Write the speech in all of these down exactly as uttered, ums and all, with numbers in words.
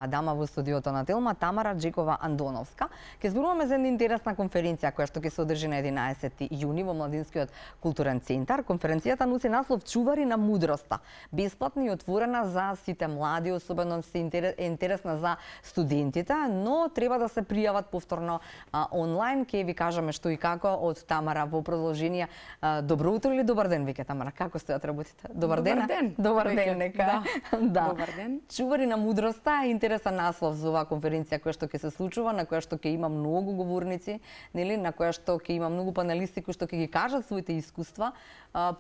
Дама во студиото на Телма, Тамара Джекова Андоновска. Ке зборуваме за една интересна конференција која што ќе се одржи на единаесети јуни во Младинскиот културен центар. Конференцијата носи наслов Чувари на мудроста. Бесплатна и отворена за сите млади, особено се е интересна за студентите, но треба да се пријават повторно а, онлайн. Ке ви кажеме што и како од Тамара во продолжение. А, добро утро или добар ден, веќе Тамара? Како стојат работите? Добар, добар ден. Добар ден, нека. Да. Да. Добар ден. Чувари на мудроста е интересен наслов за оваа конференција која што ќе се случува, на која што ќе има многу говорници, нели, на која што ќе има многу панелисти кои што ќе ги кажат своите искуства,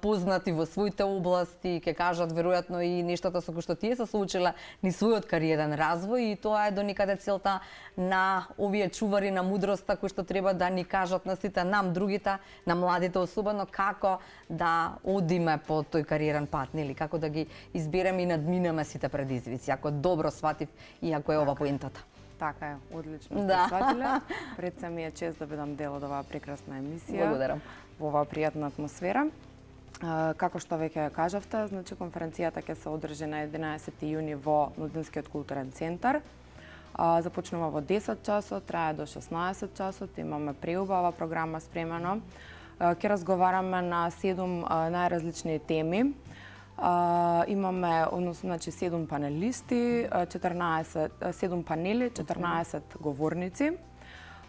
познати во своите области, ќе кажат веројатно и нештата со кои што тие се соочиле ни својот кариерен развој, и тоа е до некаде целта на овие чувари на мудроста кои што треба да ни кажат на сите нам другите, на младите особено, како да одиме по тој кариерен пат, нели, како да ги избереме и надминеме сите предизвици, ако добро сватив и ако е ова поентата. Така е, одлично сте Да. сватиле. Пред се ми е чест да бидам дел од оваа прекрасна емисија. Благодарам. Во оваа пријатна атмосфера. А, како што веќе кажавте, значи конференцијата ќе се одржи на единаесети јуни во Младинскиот културен центар. А, започнува во десет часот, трае до шеснаесет часот, имаме преубава програма спремено. А, ќе разговараме на седум а, најразлични теми. Uh, имаме, односно, значи, седум панелисти, четрнаесет, седум панели, четрнаесет говорници.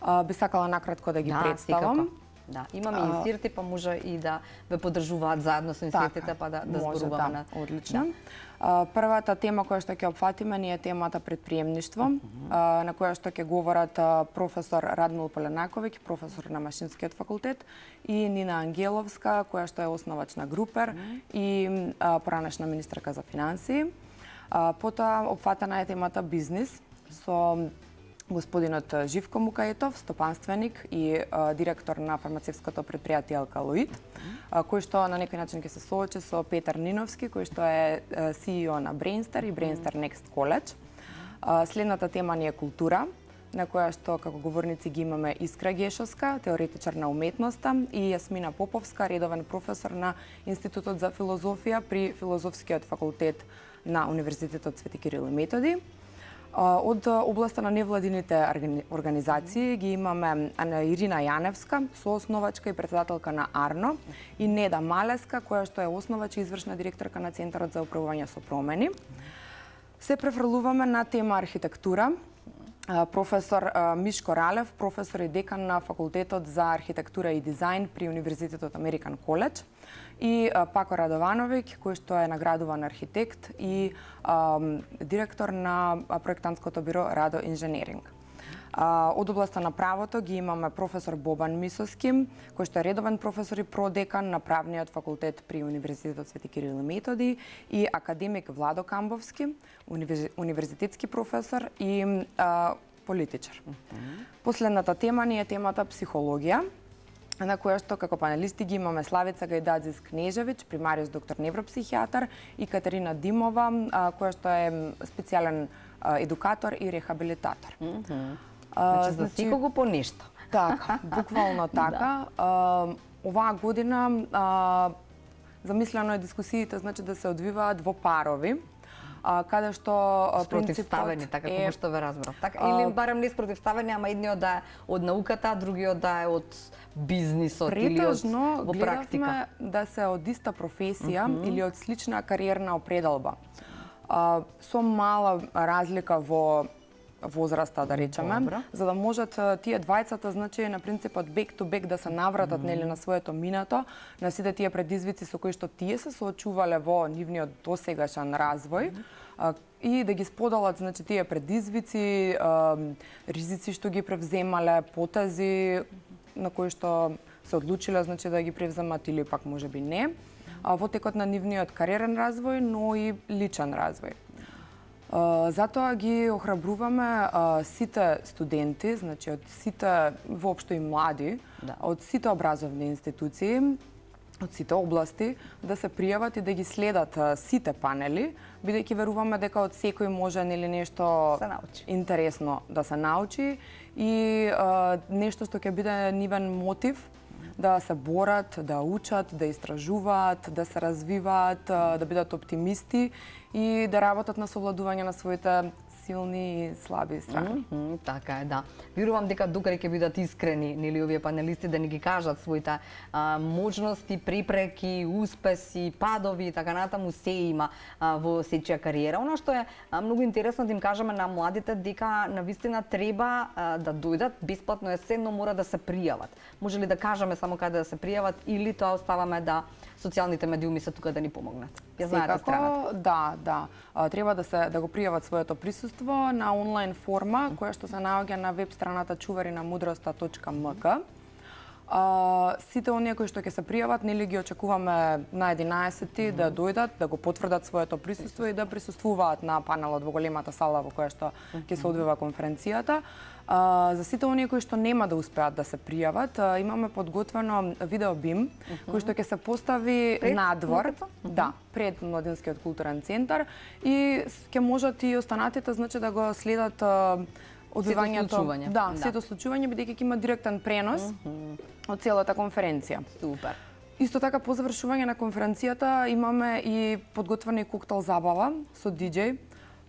Uh, би сакала накратко да ги Да, представам. секако. Да, имаме uh, инсерти, па може и да ве поддржуваат заедно со инсертите, па да, да може, зборуваме да, на... одлично. Да. Uh, првата тема која што ќе опфатиме ни е темата предприемништво, uh -huh. uh, на која што ќе говорат uh, професор Радмил Поленаковиќ, професор на Машинскиот факултет, и Нина Ангеловска, која што е основач на Групер uh -huh. и uh, поранешна министерка за финансии. Uh, потоа опфатена е темата бизнис со господинот Живко Мукаетов, стопанственик и а, директор на фармацевското предпријатие Алкалоид, а, кој што на некој начин ќе се соочи со Петар Ниновски, кој што е Си И О на Брейнстар и Брейнстар Next College. А, следната тема ни е култура, на која што како говорници ги имаме Искра Гешовска, теоретичар на уметноста, и Јасмина Поповска, редовен професор на Институтот за филозофија при Филозофскиот факултет на Универзитетот Свети Кирил и Методи. Од областа на невладините организации ги имаме Ирина Јаневска, соосновачка и председателка на АРНО, и Неда Малеска, која што е основач и извршна директорка на Центарот за управување со промени. Се префрлуваме на тема архитектура. Професор Мишко Ралев, професор и декан на Факултетот за архитектура и дизајн при Универзитетот Американ Коледж, и Пако Радовановиќ, кој што е наградуван архитект и а, директор на проектантското биро Радо Инженеринг. А, од областа на правото ги имаме професор Бобан Мисоски, кој што е редовен професор и продекан на Правниот факултет при Универзитетот Свети Кирил и Методи, и академик Владо Камбовски, универзитетски професор и а, политичар. Uh -huh. Последната тема ни е темата психологија, на која што како панелисти ги имаме Славица Гајдадзис Кнежевиќ, примариус доктор невропсихијатар, и Катерина Димова, а, која што е специјален а, едукатор и рехабилитатор. Mm -hmm. а, значи, за секого по нешто. Така, буквално така. Да. А, оваа година а, замислено е дискусиите, значи, да се одвиваат во парови, а, каде што спротивставени, така како што ве разбрав. Така, а, или барем не спротивставени, ама едниот да е од науката, а другиот да е од бизнисот или од во практика. Да се од иста професија uh -huh. или од слична кариерна определба. А, со мала разлика во возраста, да речеме, добро, за да можат тие двајцата, значи, на принципот back to back да се навратат, mm -hmm. нели, на своето минато, на сите тие предизвици со кои што тие се соочувале во нивниот досегашен развој, mm -hmm. а, и да ги споделат, значи, тие предизвици, а, ризици што ги превземале, потези на кои што се одлучиле, значи, да ги превземат или пак можеби не, а, во текот на нивниот кариерен развој, но и личен развој. Uh, затоа ги охрабруваме uh, сите студенти, значи од сите воопшто и млади, да, од сите образовни институции, од сите области, да се пријават и да ги следат uh, сите панели, бидејќи веруваме дека од секој може, нели, нешто интересно да се научи и uh, нешто што ќе биде нивен мотив да се борат, да учат, да истражуваат, да се развиваат, да бидат оптимисти и да работат на совладување на своите силни и слаби страни. Mm -hmm, така е, да. Верувам дека докаде ќе бидат искрени, нели, овие панелисти да ни ги кажат своите а, можности, препреки, успеси, падови и така натаму, се има а, во сечија кариера. Она што е а, многу интересно да им кажеме на младите дека навистина треба а, да дојдат, бесплатно е се, но мора да се пријават. Може ли да кажеме само каде да се пријават или тоа оставаме да социјалните медиуми се тука да ни помогнат? Ја знаете страната? Да, да. А, треба да се да го пријават своето присуство на онлайн форма која што се наоѓа на веб страната чуваринамудроста точка ем ка. А, сите оние кои што ќе се пријават, нели ги очекуваме на единаесети mm -hmm. да дојдат, да го потврдат своето присуство и да присуствуваат на панелот во големата сала во која што ќе се одвива конференцијата. А, за сите оние кои што нема да успеат да се пријават, а, имаме подготвено видео бим mm -hmm. кој што ќе се постави пред надвор, mm -hmm. да, пред Младинскиот културен центар и ќе можат и останатите значи да го следат а, одвивањето, да, да, сето случување бидејќи ќе има директен пренос mm -hmm. од целата конференција. Супер. Исто така по завршување на конференцијата имаме и подготвена и коктел забава со диџеј,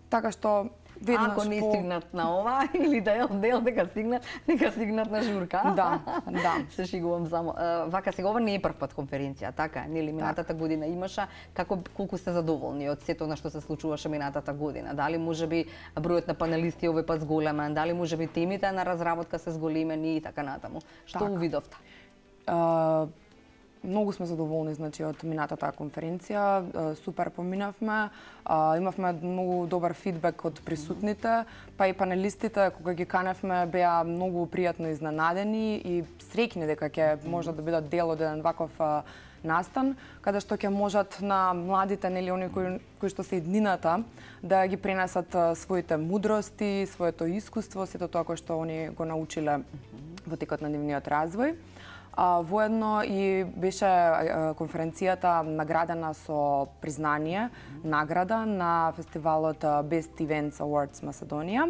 така што веднаш ако не по... стигнат на ова или да е дел дека стигнат, нека стигнат на журка. Да, да. Се шегувам само. Вака сега ова не е прв пат конференција, така е, нели минатата година имаше, како колку сте задоволни од сето на што се случуваше минатата година? Дали можеби бројот на панелисти овој пат зголемен, дали можеби темите на разработка се зголемени и така натаму? Што така увидовте? Uh... Многу сме задоволни значи од минатата конференција, супер поминавме, имавме многу добар фидбек од присутните, па и панелистите кога ги каневме беа многу пријатно изненадени и среќни дека ќе можат да бидат дел од еден ваков настан, каде што ќе можат на младите, нели оние кои, кои што се иднината, да ги пренесат своите мудрости, своето искуство, сето тоа кое што они го научиле во текот на нивниот развој. А, воедно и беше а, конференцијата наградена со признание, награда на фестивалот Best Events Awards Macedonија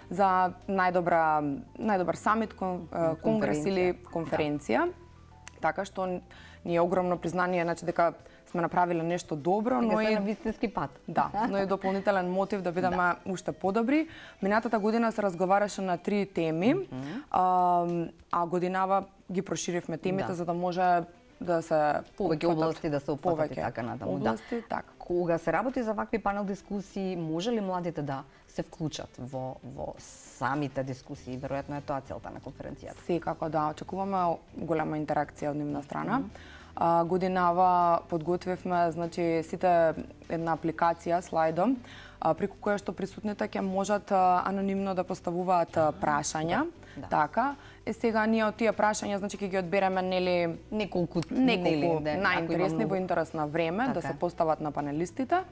за најдобра најдобар самит, кон, конгрес или конференција. Да. Така што ни е огромно признание, значи дека сме направиле нешто добро, но и на вистински пат. Да, но и дополнителен мотив да бидеме да. уште подобри. Минатата година се разговараше на три теми, mm -hmm. а, а годинава ги проширивме темите да. за да може да се повеќе области да се опфатат и така натаму. Области, да. така. Кога се работи за вакви панел дискусии, може ли младите да се вклучат во во самите дискусии? Веројатно е тоа целта на конференцијата. Секако да, очекуваме голема интеракција од нивна страна. Mm -hmm. А, годинава подготвивме значи сите една апликација слайдо а, преку која што присутните ќе можат а, анонимно да поставуваат а, прашања. Да. Така, е сега ние од тие прашања значи ќе ги одбереме нели неколку неколку да, најинтересни во интерес на време така. Да се постават на панелистите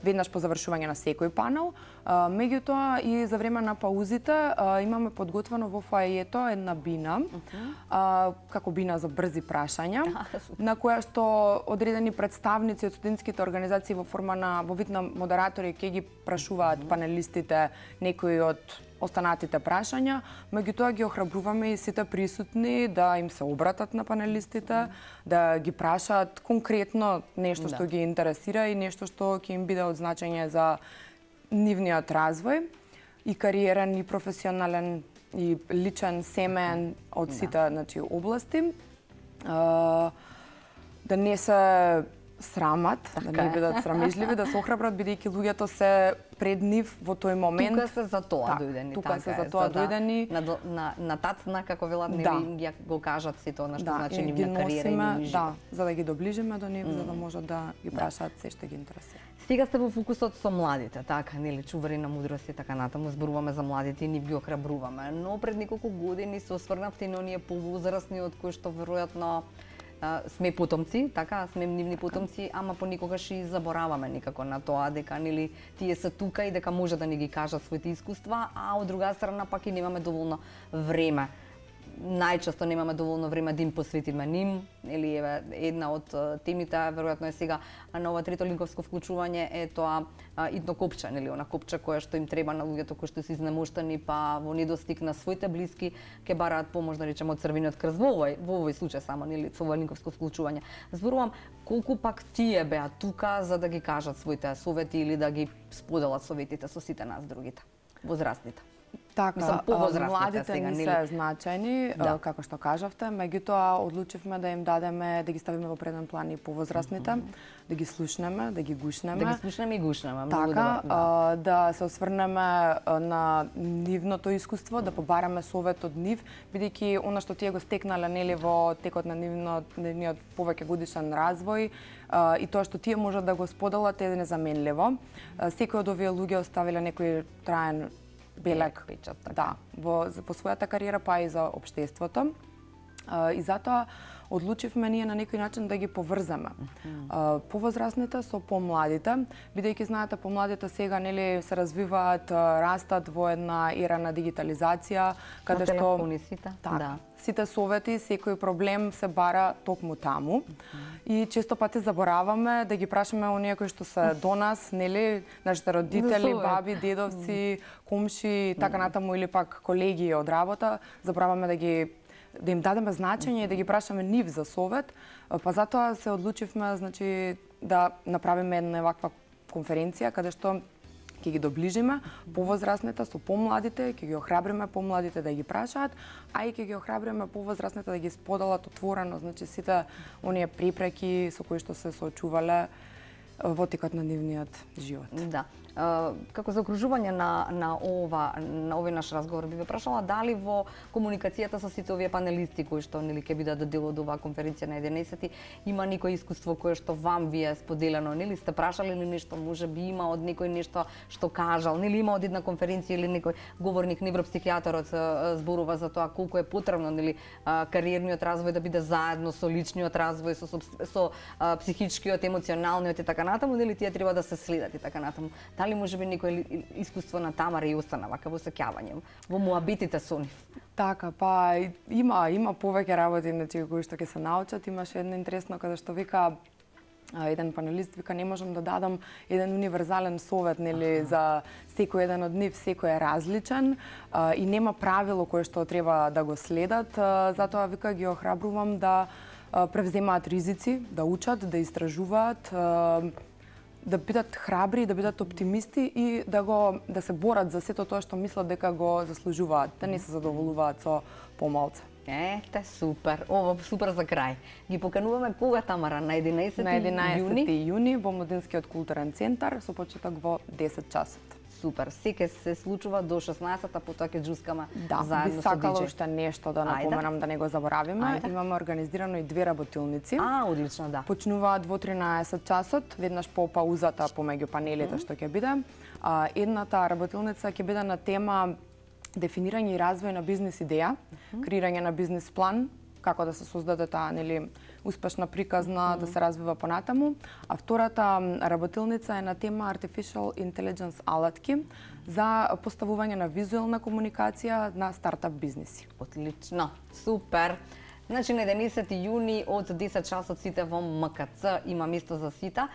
веднаш по завршување на секој панел. Меѓутоа и за време на паузите имаме подготвено во фоајето една бина, uh -huh. како бина за брзи прашања, на која што одредени представници од студентските организации во форма на во вид на модератори ќе ги прашуваат uh -huh. панелистите некои од останатите прашања, меѓутоа ги охрабруваме и сите присутни да им се обратат на панелистите, mm. да ги прашаат конкретно нешто да. што ги интересира и нешто што ќе им биде од значење за нивниот развој и кариерен и професионален и личен, семеен од сите да. значи области. Uh, да не се срамат, така да не бидат срамежливи, да се охрабрат бидејќи луѓето се пред нив во тој момент. Тука се за тоа так, дојдени. Тука така се за тоа за дојдени. Да, на, на, на тацна, како велат, да. нели ја го кажат си тоа на што да, значи нивна кариера и нивни живот. Да, за да ги доближиме до нив, mm. за да можат да ги прашаат се што ги интересира. Сега сте во фокусот со младите, така, нели, чувари на мудрост и така натаму, зборуваме за младите и нив ги охрабруваме. Но пред неколку години се осврнавте на оние повозрасни од кои што веројатно сме потомци, така, сме нивни потомци, ама понекогаш и забораваме некако на тоа дека нели тие се тука и дека може да ни ги кажат своите искуства, а од друга страна пак и немаме доволно време. Најчесто немаме доволно време да им посветиме ним, или еве една од темите веројатно е сега на ова трето линковско вклучување е тоа идно копче, нели она копче кое што им треба на луѓето кои што се изнемоштени па во недостиг на своите блиски ќе бараат помош да речеме од Црвениот крст во овој во овој случај само нели со ова линковско вклучување. Зборувам колку пак тие беа тука за да ги кажат своите совети или да ги споделат советите со сите нас другите. возрастните. Така, Мислам, повозрастните младите сега, не нели? се значајни, Да. како што кажавте, меѓутоа одлучивме да им дадеме, да ги ставиме во преден план и повозрастните, mm -hmm. да ги слушнеме, да ги гушнеме. Да ги слушнеме и гушнеме, многу Така, добро. Да. а, да се осврнеме на нивното искуство, да побараме совет од нив, бидејќи она што тие го стекнале нели во текот на нивно нивниот повеќе годишен развој, а, и тоа што тие можат да го споделат е незаменливо. А, секој од овие луѓе оставиле некој траен белег печат, така. да, во, во својата кариера, па и за општеството. А, и затоа одлучивме ние на некој начин да ги поврземе. Uh, повозрастните со помладите, бидејќи знаете помладите сега нели се развиваат, растат во една ера на дигитализација, каде што телефони сите, так, да. сите совети, секој проблем се бара токму таму. И често пати забораваме да ги прашаме оние кои што се до нас, нели, нашите родители, баби, дедовци, комши, така натаму, или пак колеги од работа, забораваме да ги да им дадеме значење и да ги прашаме нив за совет, па затоа се одлучивме, значи, да направиме една ваква конференција каде што ќе ги доближиме повозрастните со помладите, ќе ги охрабриме помладите да ги прашаат, а и ќе ги охрабриме повозрастните да ги споделат отворено, значи сите оние препреки со кои што се соочувале во текот на нивниот живот. Да. Како заокружување на на ова на овој наш разговор би ве прашала дали во комуникацијата со сите овие панелисти кои што нели ќе бидат дел од оваа конференција на единаесети има некој искуство кое што вам ви е споделено, нели сте прашале ли нешто, можеби има од некој нешто што кажал, нели има од една конференција или некој говорник невропсихијатарот зборува за тоа колку е потребно нели кариерниот развој да биде заедно со личниот развој, со со, со психичкиот, емоционалниот и така натаму, нели тие треба да се следат и така натаму. Дали можеби некој искуство на Тамара и Јосана, вака во сеќавање, во муабитите со нив? Така, па има има повеќе работи значи кои што ќе се научат. Имаше едно интересно каде што вика еден панелист вика не можам да дадам еден универзален совет нели за секој еден од нив, секој е различен а, и нема правило кое што треба да го следат, а, затоа вика ги охрабрувам да а, превземаат ризици, да учат, да истражуваат, а, да бидат храбри, да бидат оптимисти и да го да се борат за сето тоа што мислат дека го заслужуваат, да не се задоволуваат со помалце. Ете, супер. Ово супер за крај. Ги покануваме кога, Тамара? На единаесети На единаесети јуни? јуни во Младинскиот културен центар со почеток во десет часот. Супер. Се ќе се случува до шеснаесета, потоа ќе џускаме Да, заедно би со сакала диџеј. уште нешто да напоменам да не го заборавиме. Ајде. Имаме организирано и две работилници. А, одлично, да. Почнуваат во тринаесет часот, веднаш по паузата помеѓу панелите што ќе биде. А, едната работилница ќе биде на тема дефинирање и развој на бизнис идеја, креирање на бизнис план, како да се создаде таа нели успешна приказна да се развива понатаму, а втората работилница е на тема Artificial Intelligence алатки за поставување на визуелна комуникација на стартап бизниси. Отлично. Супер. Значи на единаесети јуни од десет часот сите во МКЦ има место за сите.